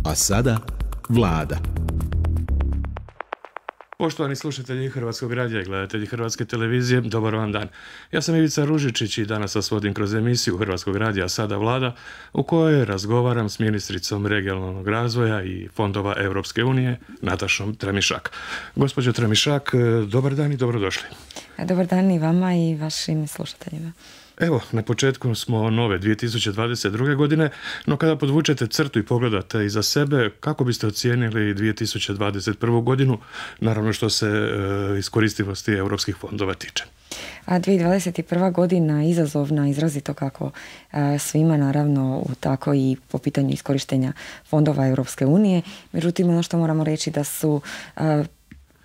A sada Vlada. Poštovani slušatelji Hrvatskog radija i gledatelji Hrvatske televizije, dobar vam dan. Ja sam Ivica Ružičić i danas vas vodim kroz emisiju Hrvatskog radija A sada Vlada, u kojoj razgovaram s ministricom regionalnog razvoja i fondova Europske unije, Natašom Tramišak. Gospođo Tramišak, dobar dan i dobrodošli. Dobar dan i vama i vašim slušateljima. Evo, na početku smo nove 2022. godine, no kada podvučete crtu i pogledate iza sebe, kako biste ocijenili 2021. godinu, naravno što se iskoristivosti europskih fondova tiče? 2021. godina izazovna, izrazito kako svima, naravno, tako i po pitanju iskorištenja fondova Europske unije. Međutim, ono što moramo reći da su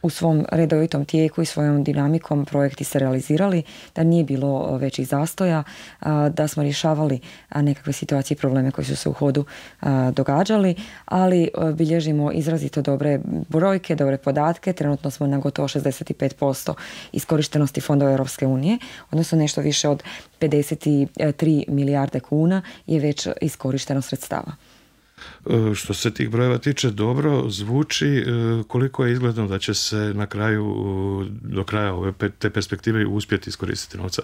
u svom redovitom tijeku i svojom dinamikom projekti se realizirali, da nije bilo većih zastoja, da smo rješavali nekakve situacije i probleme koji su se u hodu događali, ali bilježimo izrazito dobre brojke, dobre podatke. Trenutno smo na gotovo 65% iskorištenosti fondova Europske unije, odnosno nešto više od 53 milijarde kuna je već iskorišteno sredstava. Što se tih brojeva tiče, dobro zvuči. Koliko je izgledno da će se na kraju, do kraja ove te perspektive uspjeti iskoristiti novca,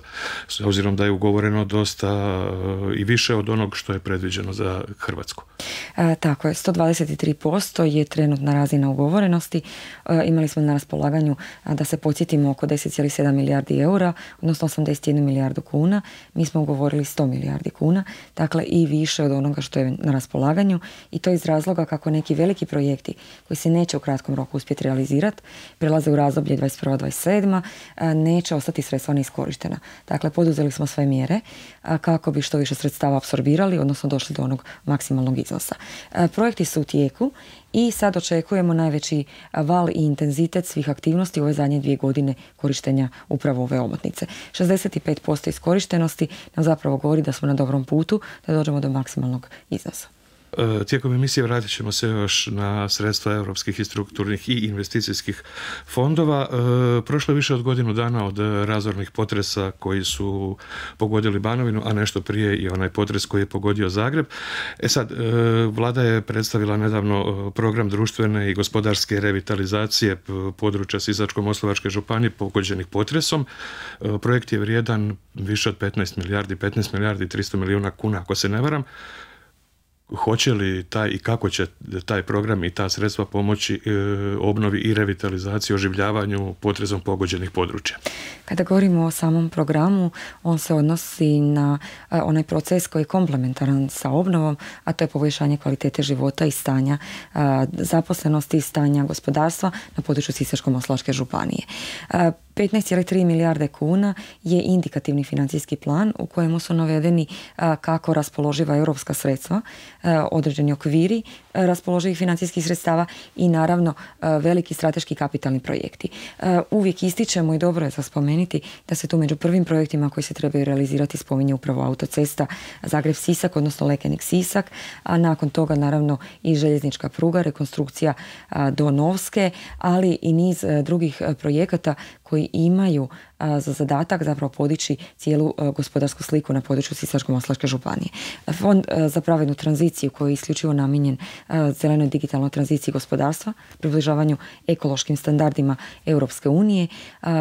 s obzirom da je ugovoreno dosta i više od onog što je predviđeno za Hrvatsku? Tako je, 123% je trenutna razina ugovorenosti. Imali smo na raspolaganju, da se podsjetimo, oko 10,7 milijardi eura, odnosno 81 milijardu kuna. Mi smo ugovorili 100 milijardi kuna, dakle i više od onoga što je na raspolaganju. I to iz razloga kako neki veliki projekti koji se neće u kratkom roku uspjeti realizirati, prelaze u razdoblje 21-27, neće ostati sredstva neiskorištena. Dakle, poduzeli smo sve mjere kako bi što više sredstava apsorbirali, odnosno došli do onog maksimalnog iznosa. Projekti su u tijeku i sad očekujemo najveći val i intenzitet svih aktivnosti u ove zadnje 2 godine korištenja upravo ove omotnice. 65% iskorištenosti nam zapravo govori da smo na dobrom putu da dođemo do maksimalnog iznosa. Tijekom emisije vratit ćemo se još na sredstva europskih i strukturnih i investicijskih fondova. Prošlo je više od godinu dana od razornih potresa koji su pogodili Banovinu, a nešto prije i onaj potres koji je pogodio Zagreb. Sad, Vlada je predstavila nedavno program društvene i gospodarske revitalizacije područja Sisačko-moslavačke županije pogođenih potresom. Projekt je vrijedan više od 15 milijardi i 300 milijuna kuna, ako se ne varam. Hoće li taj i kako će taj program i ta sredstva pomoći obnovi i revitalizaciji, oživljavanju potresom pogođenih područja? Kada govorimo o samom programu, on se odnosi na onaj proces koji je komplementaran sa obnovom, a to je poboljšanje kvalitete života i stanja zaposlenosti i stanja gospodarstva na području Sisačko-moslavačke županije. 15,3 milijarde kuna je indikativni financijski plan u kojemu su navedeni kako raspoloživa europska sredstva, određeni okviri raspoloživih financijskih sredstava i naravno veliki strateški kapitalni projekti. Uvijek ističemo i dobro je za spomenuti da se tu među prvim projektima koji se trebaju realizirati spominje upravo autocesta Zagreb-Sisak, odnosno Lekenik-Sisak, a nakon toga naravno i željeznička pruga, rekonstrukcija do Novske, ali i niz drugih projekata koji imaju za zadatak zapravo podići cijelu gospodarsku sliku na području Sisačko-moslavačke županije. Fond za pravednu tranziciju koji je isključivo namijenjen zelenoj digitalnoj tranziciji gospodarstva, približavanju ekološkim standardima Europske unije,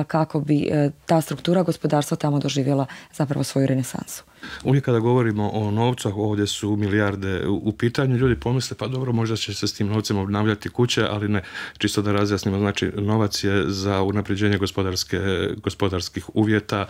kako bi ta struktura gospodarstva tamo doživjela zapravo svoju renesansu. Uvijek kada govorimo o novcu, ovdje su milijarde u pitanju, ljudi pomisle pa dobro, možda će se s tim novcem obnavljati kuće, ali ne, čisto da razjasnimo, znači novac je za unapređenje gospodarskih uvjeta,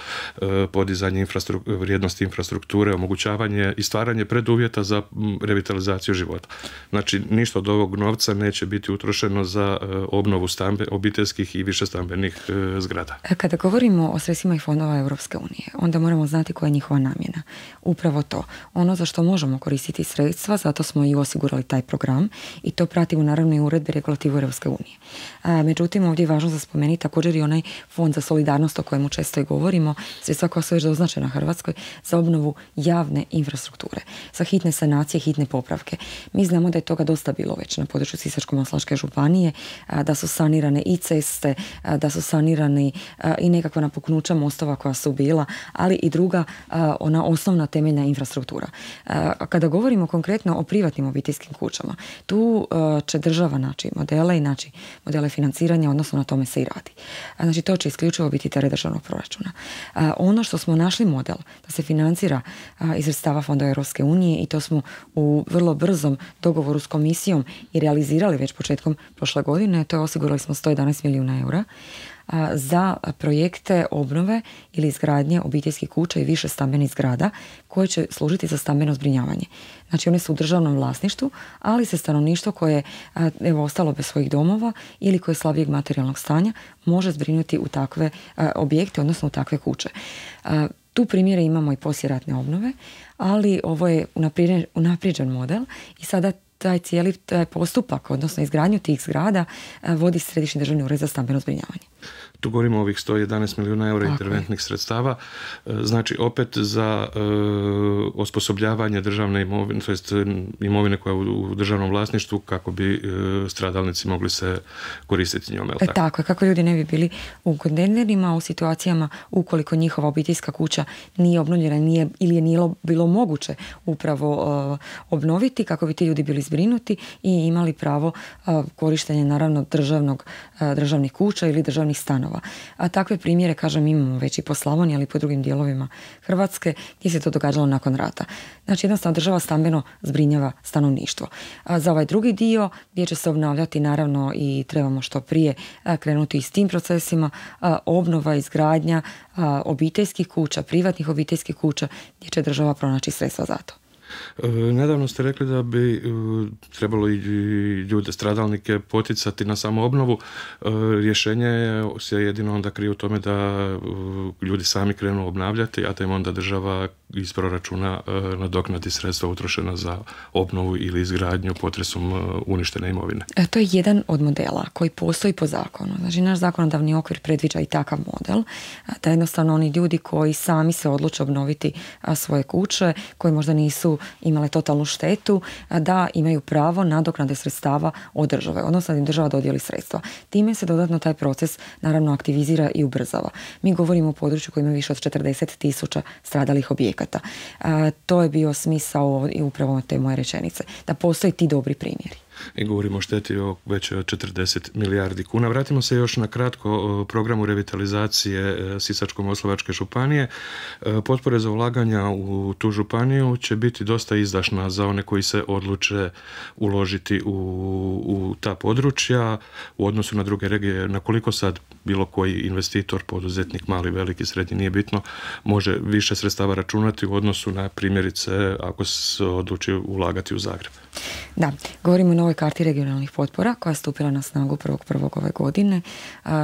podizanje vrijednosti infrastrukture, omogućavanje i stvaranje preduvjeta za revitalizaciju života. Znači ništa od ovog novca neće biti utrošeno za obnovu obiteljskih i višestambenih zgrada. Kada govorimo o sredstvima i fondova Europske unije, onda moramo znati koja je njihova namjena. Upravo to. Ono za što možemo koristiti sredstva, zato smo i osigurali taj program i to pratimo naravno i uredbe regulativu Europske unije. Međutim, ovdje je važno za spomenuti također i onaj fond za solidarnost o kojemu često i govorimo, sredstva koja su već doznačena Hrvatskoj za obnovu javne infrastrukture, za hitne sanacije, hitne popravke. Mi znamo da je toga dosta bilo već na području Sisačko-moslavačke županije, da su sanirane i ceste, da su sanirani i nekakva napuknuća mostova koja su bila, ali i druga ona osnovna temeljna infrastruktura. Kada govorimo konkretno o privatnim obiteljskim kućama, tu će država naći modele i naći modele financiranja, odnosno na tome se i radi. Znači to će isključivo biti teret državnog proračuna. Ono što smo našli model da se financira iz sredstava fonda Europske unije i to smo u vrlo brzom dogovoru s komisijom i realizirali već početkom prošle godine, to je osigurali smo 111 milijuna eura za projekte obnove ili izgradnje obiteljskih kuća i više stambenih zgrada koje će služiti za stambeno zbrinjavanje. Znači one su u državnom vlasništvu, ali se stanovništvo koje je ostalo bez svojih domova ili koje je slabijeg materijalnog stanja može zbrinuti u takve objekte, odnosno u takve kuće. Tu primjere imamo i poslijeratne obnove, ali ovo je unaprijeđen model i sada taj cijeli postupak, odnosno izgradnju tih zgrada, vodi Središnji državni ured za stambeno zbrinjavanje. Tu govorimo o ovih 111 milijuna eura interventnih sredstava, znači opet za osposobljavanje državne imovine, to jest imovine koja je u državnom vlasništvu kako bi stradalnici mogli se koristiti njome. Tako je, kako ljudi ne bi bili u kontejnerima u situacijama ukoliko njihova obiteljska kuća nije obnovljena ili je nije bilo moguće upravo obnoviti, kako bi ti ljudi bili zbrinuti i imali pravo korištenja naravno državnih kuća ili državnih stanova. A takve primjere, kažem, imamo već i po Slavoniji, ali i po drugim dijelovima Hrvatske gdje se to događalo nakon rata. Znači jednostavno država stambeno zbrinjava stanovništvo. Za ovaj drugi dio gdje će se obnavljati naravno i trebamo što prije krenuti i s tim procesima, obnova, izgradnja obiteljskih kuća, privatnih obiteljskih kuća gdje će država pronaći sredstva za to. Nedavno ste rekli da bi trebalo i ljude, stradalnike poticati na samoobnovu. Rješenje se jedino onda krije u tome da ljudi sami krenu obnavljati, a da im onda država iz proračuna nadoknadi sredstva utrošena za obnovu ili izgradnju potresom uništene imovine. To je jedan od modela koji postoji po zakonu. Znači naš zakonodavni okvir predviđa i takav model, da jednostavno oni ljudi koji sami se odluče obnoviti svoje kuće, koji možda nisu imale totalnu štetu, da imaju pravo nadoknade sredstava od države, odnosno da im država dodijeli sredstva. Time se dodatno taj proces naravno aktivizira i ubrzava. Mi govorimo o području koji ima više od 40.000 stradalih objekata. To je bio smisao i upravo te moje rečenice, da postoje ti dobri primjeri. I govorimo o šteti već 40 milijardi kuna. Vratimo se još na kratko programu revitalizacije Sisačko-moslavačke županije. Potpore za ulaganja u tu županiju će biti dosta izdašna za one koji se odluče uložiti u ta područja u odnosu na druge regije. Na koliko sad bilo koji investitor, poduzetnik, mali, veliki, srednji, nije bitno, može više sredstava računati u odnosu na primjerice ako se odluči ulagati u Zagreb? Da, govorimo o novoj karti regionalnih potpora koja je stupila na snagu 1.1. ove godine.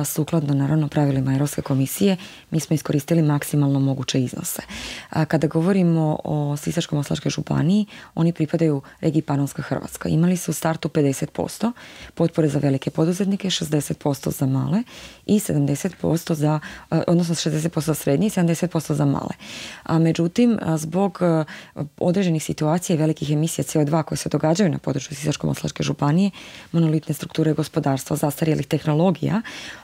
Sukladno naravno pravilima Europske komisije mi smo iskoristili maksimalno moguće iznose. Kada govorimo o Sisačko-moslavačkoj županiji, oni pripadaju regiji Panonska Hrvatska. Imali su u startu 50% potpore za velike poduzetnike, 60% za male i 70% za, odnosno 60% za srednje i 70% za male. Međutim, zbog određenih situacija i velikih emisija CO2 koje se događaju na području Sisačko-moslavačke županije, monolitne strukture gospodarstva, zastarjelih tehnologija,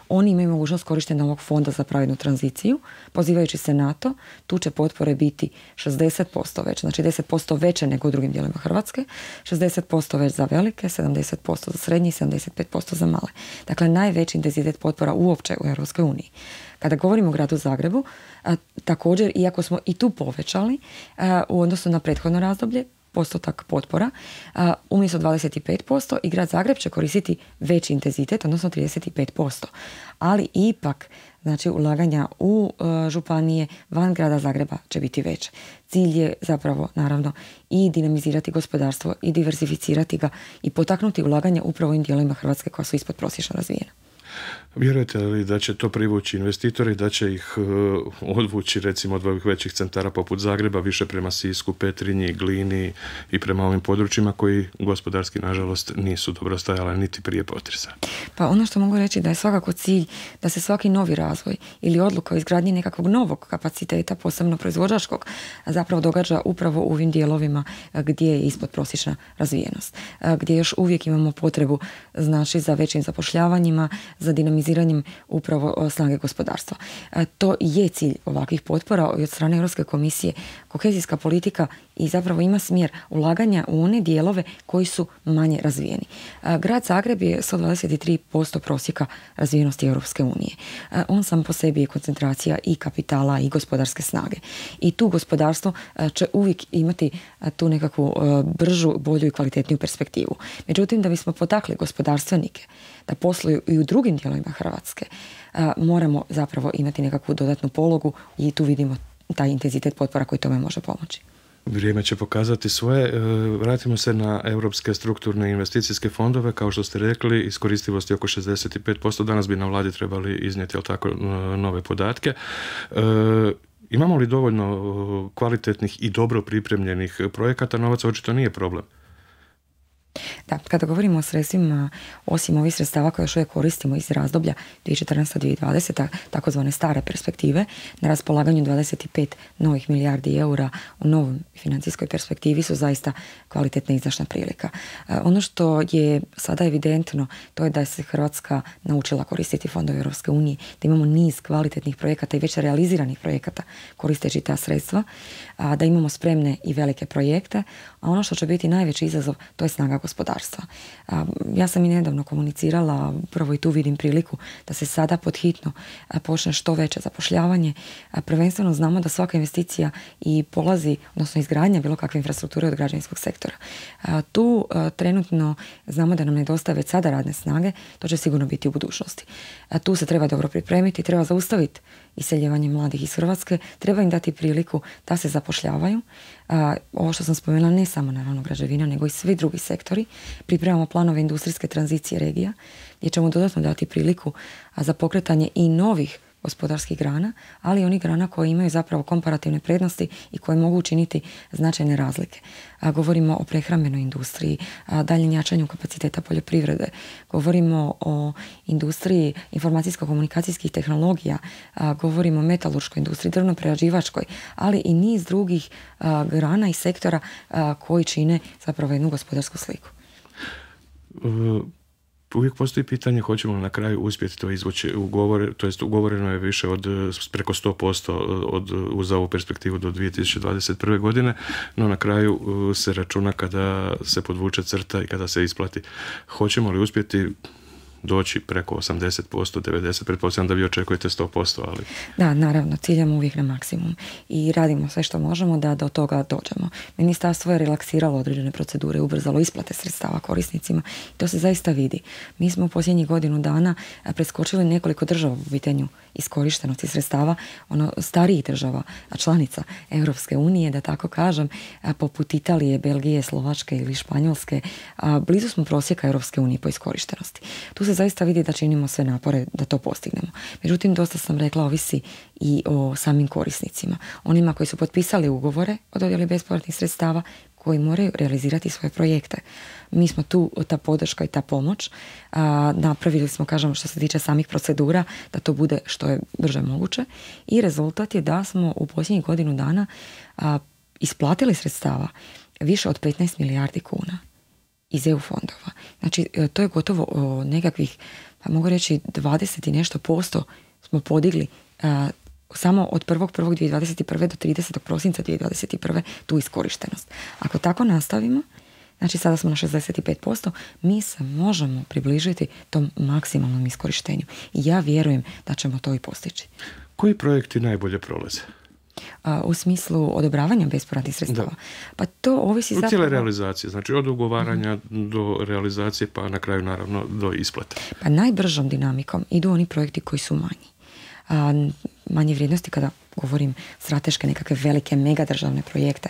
oni imaju mogućnost korištenja ovog fonda za pravednu tranziciju. Pozivajući se na to, tu će potpore biti 60% veće, znači 10% veće nego u drugim dijelovima Hrvatske, 60% već za velike, 70% za srednje i 75% za male. Dakle, najveći intenzitet potpora uopće u Europskoj uniji. Kada govorimo o gradu Zagrebu, također, iako smo i tu povećali u odnosu na prethodno razdoblje, postotak potpora, umjesto 25% i grad Zagreb će koristiti veći intenzitet, odnosno 35%. Ali ipak, znači, ulaganja u županije van grada Zagreba će biti veće. Cilj je zapravo, naravno, i dinamizirati gospodarstvo i diversificirati ga i potaknuti ulaganja upravo u ovim dijelovima Hrvatske koja su ispod prosječno razvijena. Vjerujete li da će to privući investitori, da će ih odvući recimo od ovih većih centara poput Zagreba više prema Sisku, Petrinji, Glini i prema ovim područjima koji gospodarski nažalost nisu dobro stajale niti prije potresa? Pa ono što mogu reći da je svakako cilj da se svaki novi razvoj ili odluka o izgradnji nekakvog novog kapaciteta, posebno proizvođačkog, zapravo događa upravo u ovim dijelovima gdje je ispod prosječna razvijenost, gdje još uvijek imamo potrebu, znači, za većim zapošljavanjima, za za dinamiziranjem upravo snage gospodarstva. To je cilj ovakvih potpora i od strane Europske komisije. Kohezijska politika i zapravo ima smjer ulaganja u one dijelove koji su manje razvijeni. Grad Zagreb je 123% prosjeka razvijenosti Europske unije. On sam po sebi je koncentracija i kapitala i gospodarske snage. I tu gospodarstvo će uvijek imati tu nekakvu bržu, bolju i kvalitetniju perspektivu. Međutim, da bismo potakli gospodarstvenike da posluju i u drugim dijelovima Hrvatske, moramo zapravo imati nekakvu dodatnu pologu i tu vidimo taj intenzitet potpora koji tome može pomoći. Vrijeme će pokazati svoje. Vratimo se na europske strukturne investicijske fondove. Kao što ste rekli, iskoristivost je oko 65%. Danas bi na vladi trebali iznijeti nove podatke. Imamo li dovoljno kvalitetnih i dobro pripremljenih projekata? Novac očito nije problem. Da, kada govorimo o sredstvima, osim ovih sredstava koje još uvijek koristimo iz razdoblja 2014-2020, takozvane stare perspektive, na raspolaganju 25 novih milijardi eura u novoj financijskoj perspektivi su zaista kvalitetna i izdašna prilika. Ono što je sada evidentno, to je da se Hrvatska naučila koristiti fondove Europske unije, da imamo niz kvalitetnih projekata i već realiziranih projekata koristeći ta sredstva, da imamo spremne i velike projekte, a ono što će biti najveći izazov, to je snaga gospodarstva. Ja sam i nedavno komunicirala, upravo i tu vidim priliku da se sada podhitno počne što veće zapošljavanje. Prvenstveno znamo da svaka investicija i polazi, odnosno izgradnja bilo kakve infrastrukture od građevinskog sektora. Tu trenutno znamo da nam nedostaje već sada radne snage, to će sigurno biti u budućnosti. Tu se treba dobro pripremiti, treba zaustaviti iseljevanje mladih iz Hrvatske, treba im dati priliku da se zapošljavaju. Ovo što sam spomenula, ne samo naravno građevina, nego i svi drugi sektori. Pripremamo planove industrijske tranzicije regija, gdje ćemo dodatno dati priliku za pokretanje i novih gospodarskih grana, ali i onih grana koje imaju zapravo komparativne prednosti i koje mogu učiniti značajne razlike. Govorimo o prehrambenoj industriji, daljem jačanju kapaciteta poljoprivrede, govorimo o industriji informacijsko-komunikacijskih tehnologija, govorimo o metalurškoj industriji, drvno-prerađivačkoj, ali i niz drugih grana i sektora koji čine zapravo jednu gospodarsku sliku. Uvijek postoji pitanje hoćemo li na kraju uspjeti to izvući ugovoreno je više od preko 100% uz ovu perspektivu do 2021. godine, no na kraju se računa kada se podvuče crta i kada se isplati. Hoćemo li uspjeti doći preko 80%, 90%, pretpostavljam da vi očekujete 100%, ali... Da, naravno, ciljamo uvijek na maksimum i radimo sve što možemo da do toga dođemo. Ministarstvo je relaksiralo određene procedure, ubrzalo isplate sredstava korisnicima i to se zaista vidi. Mi smo u posljednjih godinu dana preskočili nekoliko država u pitanju iskorištenosti sredstava, starijih država, članica Europske unije, da tako kažem, poput Italije, Belgije, Slovačke ili Španjolske, blizu smo prosjeka Europske unije po iskorištenosti. Tu se zaista vidi da činimo sve napore da to postignemo. Međutim, dosta sam rekla, ovisi i o samim korisnicima. Onima koji su potpisali ugovore o dodjeli bespovratnih sredstava, koji moraju realizirati svoje projekte. Mi smo tu, ta podrška i ta pomoć, napravili smo, kažem, što se tiče samih procedura, da to bude što je brže moguće i rezultat je da smo u posljednjih godinu dana isplatili sredstava više od 15 milijardi kuna iz EU fondova. Znači, to je gotovo nekakvih, pa mogu reći 20 i nešto posto smo podigli samo od 1.1.2021. do 30. prosinca 2021. tu iskorištenost. Ako tako nastavimo, znači sada smo na 65%, mi se možemo približiti tom maksimalnom iskorištenju. I ja vjerujem da ćemo to i postići. Koji projekti najbolje prolaze? U smislu odobravanja bespovratnih sredstava. Da. Pa to ovisi zapravo... cijele realizacije, znači od ugovaranja do realizacije, pa na kraju naravno do isplate. Pa najbržom dinamikom idu oni projekti koji su manji. Manje vrijednosti kada govorim strateške nekakve velike megadržavne projekte.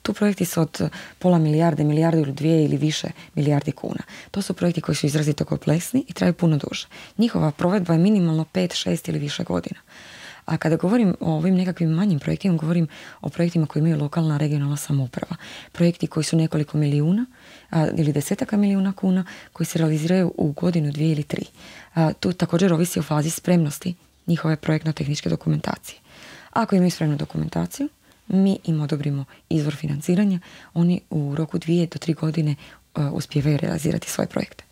Tu projekti su od pola milijarde, milijardu ili 2 ili više milijardi kuna. To su projekti koji su izrazito kompleksni i traju puno duže. Njihova provedba je minimalno 5, 6 ili više godina. A kada govorim o ovim nekakvim manjim projektima, govorim o projektima koji imaju lokalna, regionalna samouprava. Projekti koji su nekoliko milijuna ili desetaka milijuna kuna koji se realiziraju u godinu, 2 ili 3. Tu također ovisi o fazi spremnosti njihove projektno-tehničke dokumentacije. Ako imaju spremnu dokumentaciju, mi im odobrimo izvor financiranja, oni u roku 2 do 3 godine uspijevaju realizirati svoje projekte.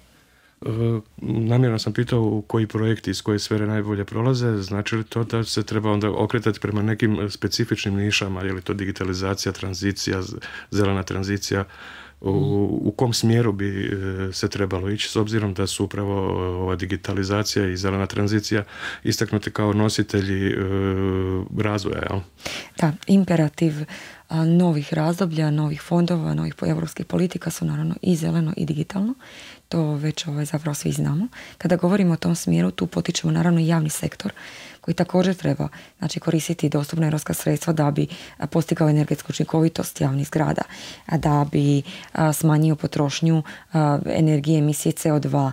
Namjerno sam pitao koji projekti iz koje sfere najbolje prolaze, znači li to da se treba onda okretati prema nekim specifičnim nišama, je li to digitalizacija, tranzicija, zelena tranzicija, u kom smjeru bi se trebalo ići, s obzirom da su upravo ova digitalizacija i zelena tranzicija istaknuti kao nositelji razvoja, jel? Da, imperativ novih razdoblja, novih fondova, novih europskih politika su naravno i zeleno i digitalno. To već zapravo svi znamo. Kada govorimo o tom smjeru, tu potičemo naravno i javni sektor koji također treba, znači, koristiti dostupna europska sredstva da bi postigao energetsku učinkovitost javnih zgrada, da bi smanjio potrošnju energije, emisije CO2,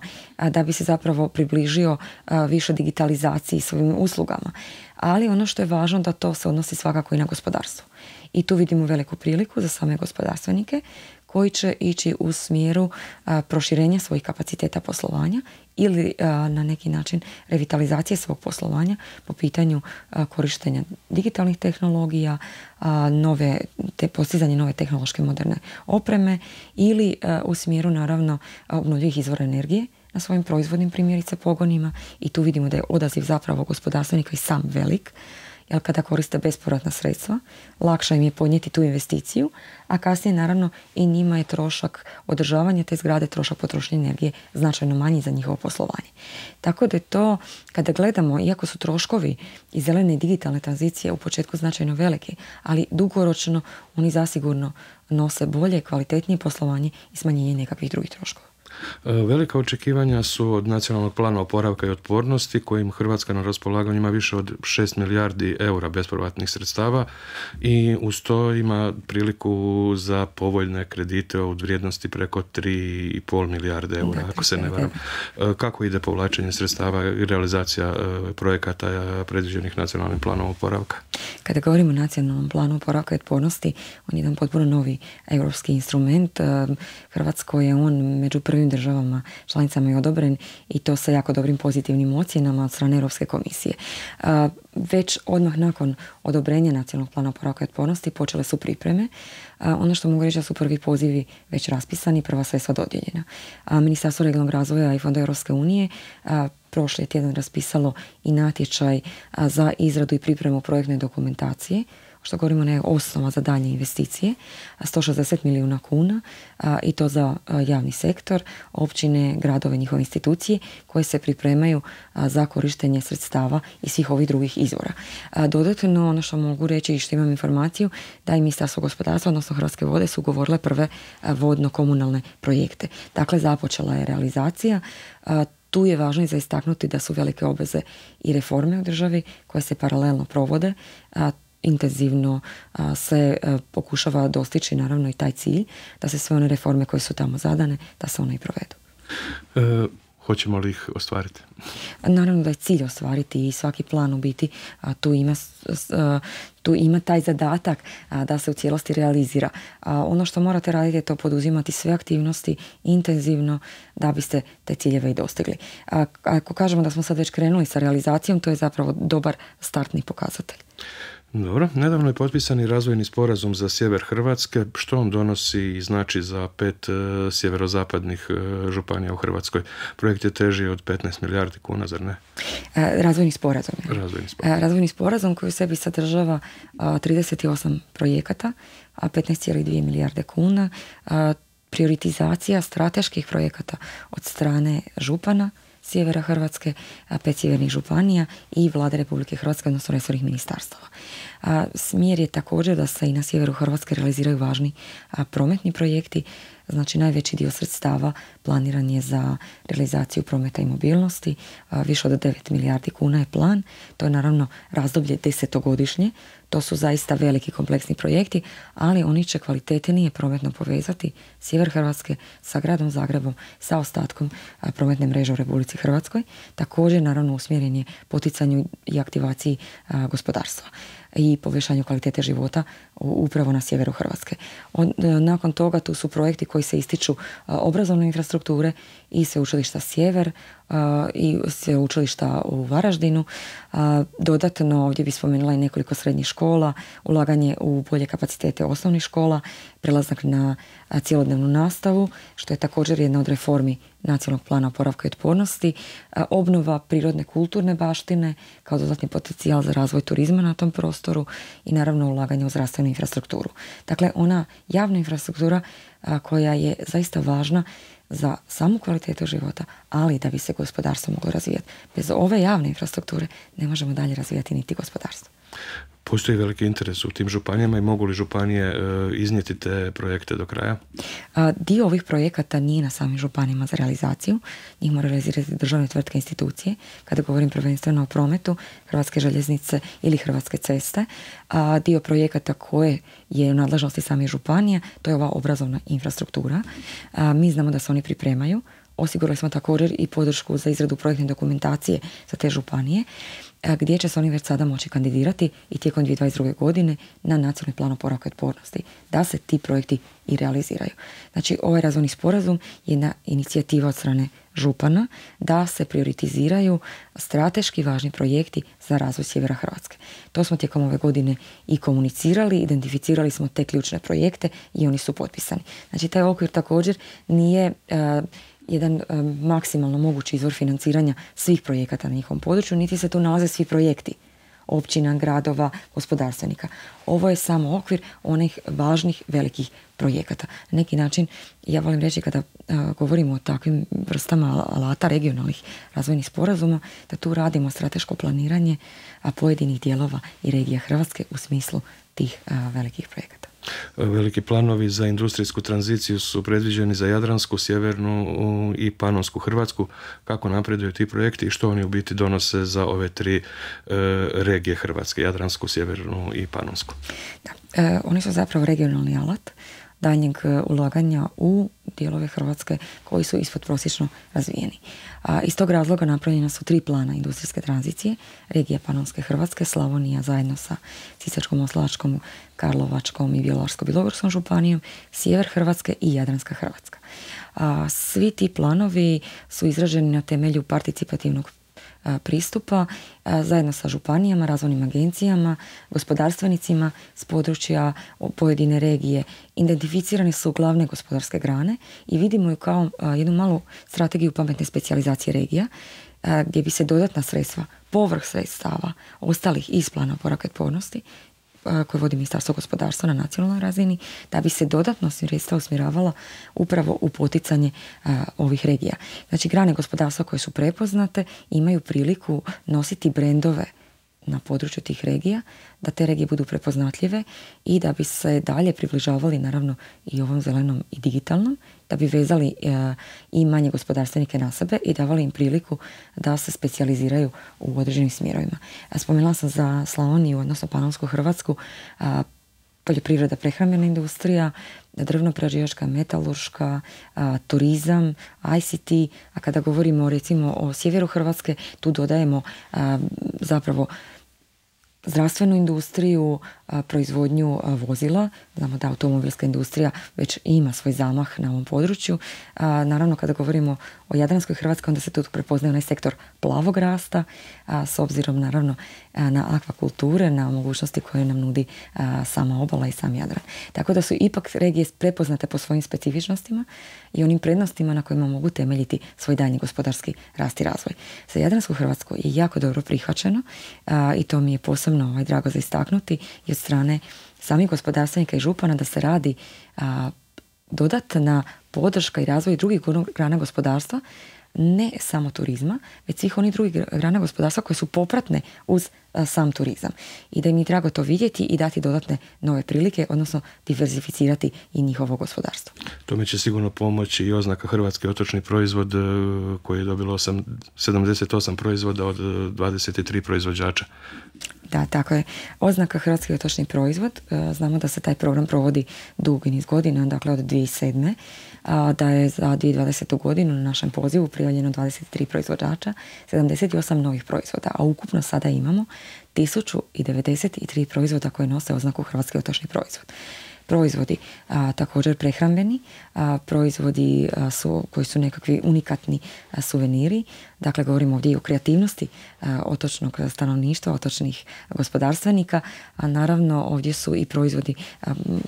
da bi se zapravo približio više digitalizaciji svojim uslugama. Ali ono što je važno da to se odnosi svakako i na gospodarstvo. I tu vidimo veliku priliku za same gospodarstvenike koji će ići u smjeru proširenja svojih kapaciteta poslovanja ili na neki način revitalizacije svog poslovanja po pitanju korištenja digitalnih tehnologija, postizanje nove tehnološke moderne opreme ili u smjeru naravno obnovljivih izvora energije na svojim proizvodnim primjerice pogonima, i tu vidimo da je odaziv zapravo gospodarstvenika i sam velik, jer kada koriste bespovratna sredstva, lakše im je podnijeti tu investiciju, a kasnije naravno i njima je trošak održavanja te zgrade, trošak potrošnje energije značajno manji za njihovo poslovanje. Tako da je to, kada gledamo, iako su troškovi i zelene i digitalne tranzicije u početku značajno veliki, ali dugoročno oni zasigurno nose bolje, kvalitetnije poslovanje i smanjenje nekakvih drugih troškova. Velika očekivanja su od nacionalnog plana oporavka i otpornosti kojim Hrvatska na raspolaganju ima više od 6 milijardi eura bespovratnih sredstava i uz to ima priliku za povoljne kredite od vrijednosti preko 3,5 milijarde eura, ako se ne varam. Kako ide povlačenje sredstava i realizacija projekata predviđenih nacionalnim planom oporavka? Kada govorimo o nacionalnom planu oporavka i otpornosti, on je jedan potpuno novi europski instrument. Hrvatskoj je on među prvim državama članicama je odobren i to sa jako dobrim pozitivnim ocjenama od strane Europske komisije. Već odmah nakon odobrenja nacionalnog plana oporavka i otpornosti počele su pripreme. Ono što mogu reći da su prvi pozivi već raspisani, prva sredstva dodijeljena. Ministarstvo regionalnog razvoja i Fonda Europske unije prošli tjedan raspisalo i natječaj za izradu i pripremu projektne dokumentacije, što govorimo ne osnova za daljnje investicije, 160 milijuna kuna i to za javni sektor, općine, gradove, njihove institucije koje se pripremaju za korištenje sredstava i svih ovih drugih izvora. Dodatno, ono što mogu reći i što imam informaciju, da i Ministarstvo gospodarstva, odnosno Hrvatske vode, su ugovorile prve vodno-komunalne projekte. Dakle, započela je realizacija. Tu je važno i za istaknuti da su velike obveze i reforme u državi koje se paralelno provode. Intenzivno se pokušava dostići naravno i taj cilj da se sve one reforme koje su tamo zadane, da se one i provedu. Hoćemo li ih ostvariti? Naravno da je cilj ostvariti i svaki plan u biti tu ima taj zadatak da se u cijelosti realizira. Ono što morate raditi je to poduzimati sve aktivnosti intenzivno da biste te ciljeve i dostigli. Ako kažemo da smo sad već krenuli sa realizacijom, to je zapravo dobar startni pokazatelj. Dobro, nedavno je potpisani razvojni sporazum za sjever Hrvatske. Što on donosi i znači za 5 sjeverozapadnih županija u Hrvatskoj? Projekt je teži od 15 milijardi kuna, zar ne? Razvojni sporazum. Razvojni sporazum koji u sebi sadržava 38 projekata, 15,2 milijarde kuna, prioritizacija strateških projekata od strane župana sjevera Hrvatske, 5 sjevernih županija i Vlade Republike Hrvatske, odnosno resornih ministarstava. Smjer je također da se i na sjeveru Hrvatske realiziraju važni prometni projekti. Znači, najveći dio sredstava planiran je za realizaciju prometa i mobilnosti. Više od 9 milijardi kuna je plan. To je naravno razdoblje 10-godišnje. To su zaista veliki kompleksni projekti, ali oni će kvalitetnije prometno povezati sjever Hrvatske sa gradom Zagrebom, sa ostatkom prometne mreže u Republici Hrvatskoj. Također, naravno, usmjeren je poticanju i aktivaciji gospodarstva i povećanju kvalitete života upravo na sjeveru Hrvatske. Nakon toga tu su projekti koji se ističu obrazovne infrastrukture i sveučilišta Sjever, i sveučilišta u Varaždinu. Dodatno ovdje bi spomenula i nekoliko srednjih škola, ulaganje u bolje kapacitete osnovnih škola, prelazak na cjelodnevnu nastavu, što je također jedna od reformi Nacionalnog plana oporavka i otpornosti, obnova prirodne kulturne baštine kao dodatni potencijal za razvoj turizma na tom prostoru i naravno ulaganje u zdravstvenu infrastrukturu. Dakle, ona javna infrastruktura koja je zaista važna za samu kvalitetu života, ali da bi se gospodarstvo moglo razvijati. Bez ove javne infrastrukture ne možemo dalje razvijati niti gospodarstvo. Postoji veliki interes u tim županijama i mogu li županije iznijeti te projekte do kraja? Dio ovih projekata nije na samim županijama za realizaciju. Njih mora realizirati državne tvrtke, institucije. Kada govorim prvenstveno o prometu, Hrvatske željeznice ili Hrvatske ceste. Dio projekata koje je u nadležnosti samih županija, to je ova obrazovna infrastruktura. Mi znamo da se oni pripremaju. Osigurali smo također i podršku za izradu projektne dokumentacije za te županije, gdje će se oni već sada moći kandidirati i tijekom 2022. godine na Nacionalni plan oporavka i otpornosti, da se ti projekti i realiziraju. Znači, ovaj razvojni sporazum je na inicijativa od strane župana da se prioritiziraju strateški važni projekti za razvoj sjevera Hrvatske. To smo tijekom ove godine i komunicirali, identificirali smo te ključne projekte i oni su potpisani. Znači, taj okvir također nije jedan maksimalno mogući izvor financiranja svih projekata na njihovom području, niti se tu nalaze svi projekti općina, gradova, gospodarstvenika. Ovo je samo okvir onih važnih velikih projekata. Na neki način, ja volim reći kada govorimo o takvim vrstama alata regionalnih razvojnih sporazuma, da tu radimo strateško planiranje pojedinih dijelova i regija Hrvatske u smislu tih velikih projekata. Veliki planovi za industrijsku tranziciju su predviđeni za Jadransku, Sjevernu i Panonsku Hrvatsku. Kako napreduju ti projekti i što oni u biti donose za ove tri regije Hrvatske, Jadransku, Sjevernu i Panonsku? Da, oni su zapravo regionalni alat daljnjeg ulaganja u dijelove Hrvatske koji su ispodprosječno razvijeni. Iz tog razloga napravljena su 3 plana industrijske tranzicije, regija Panonske Hrvatske, Slavonija zajedno sa Sisačko-moslavačkom, Karlovačkom i Bjelovarsko-bilogorskom županijom, sjever Hrvatske i Jadranska Hrvatska. Svi ti planovi su izraženi na temelju participativnog pristupa zajedno sa županijama, razvojnim agencijama, gospodarstvenicima s područja pojedine regije. Identificirane su glavne gospodarske grane i vidimo ju kao jednu malu strategiju pametne specijalizacije regija gdje bi se dodatna sredstva, povrh sredstava ostalih iz plana oporavka i otpornosti koje vodi Ministarstvo gospodarstva na nacionalnoj razini, da bi se dodatno sredstva usmjeravala upravo u poticanje ovih regija. Znači, grane gospodarstva koje su prepoznate imaju priliku nositi brendove na području tih regija, da te regije budu prepoznatljive i da bi se dalje približavali naravno i ovom zelenom i digitalnom, da bi vezali i manje gospodarstvenike na sebe i davali im priliku da se specijaliziraju u određenim smjerovima. Spomenula sam za Slavoniju, odnosno Panonsku Hrvatsku, poljoprivreda, prehrambena industrija, drvno-prerađivačka, metalurška, turizam, ICT, a kada govorimo recimo o sjeveru Hrvatske, tu dodajemo zapravo zdravstvenu industriju, proizvodnju vozila. Znamo da automobilska industrija već ima svoj zamah na ovom području. Naravno, kada govorimo o Jadranskoj Hrvatskoj, onda se tu prepoznaje onaj sektor plavog rasta, s obzirom naravno na akvakulture, na mogućnosti koje nam nudi sama obala i sam Jadran. Tako da su ipak regije prepoznate po svojim specifičnostima i onim prednostima na kojima mogu temeljiti svoj daljnji gospodarski rast i razvoj. Za Jadransku Hrvatsku je jako dobro prihvaćeno i to mi je posebno drago za istaknuti i od strane samih gospodarstvenika i župana da se radi dodatna podrška i razvoj drugih grana gospodarstva, ne samo turizma, već svih onih drugih grana gospodarstva koje su popratne uz sam turizam. I da im je drago to vidjeti i dati dodatne nove prilike, odnosno diversificirati i njihovo gospodarstvo. Tome će sigurno pomoći i oznaka Hrvatski otočni proizvod koji je dobilo 78 proizvoda od 23 proizvođača. Da, tako je. Oznaka Hrvatski otočni proizvod, znamo da se taj program provodi dugi niz godina, dakle od 2007. Da je za 2020. godinu na našem pozivu prijavljeno 23 proizvođača, 78 novih proizvoda, a ukupno sada imamo 1093 proizvoda koje nose oznaku Hrvatski otočni proizvod. Proizvodi također prehrambeni, proizvodi koji su nekakvi unikatni suveniri, Dakle, govorimo ovdje i o kreativnosti otočnog stanovništva, otočnih gospodarstvenika, a naravno ovdje su i proizvodi,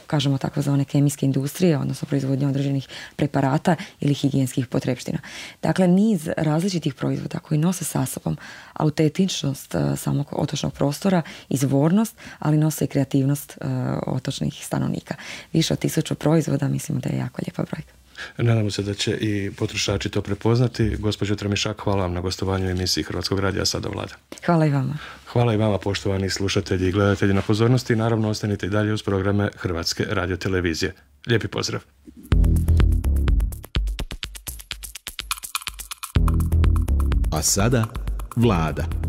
kažemo takozvane kemijske industrije, odnosno proizvodnje određenih preparata ili higijenskih potrepština. Dakle, niz različitih proizvoda koji nose sa sobom autentičnost samog otočnog prostora, izvornost, ali nose i kreativnost otočnih stanovnika. Više od 1000 proizvoda, mislimo da je jako lijepa brojka. Nadamo se da će i potrošači to prepoznati. Gospođo Tramišak, hvala vam na gostovanju u emisiji Hrvatskog radija Sada Vlada. Hvala i vama. Hvala i vama, poštovani slušatelji i gledatelji, na pozornosti i naravno ostanite i dalje uz programe Hrvatske radiotelevizije. Lijepi pozdrav. A sada Vlada.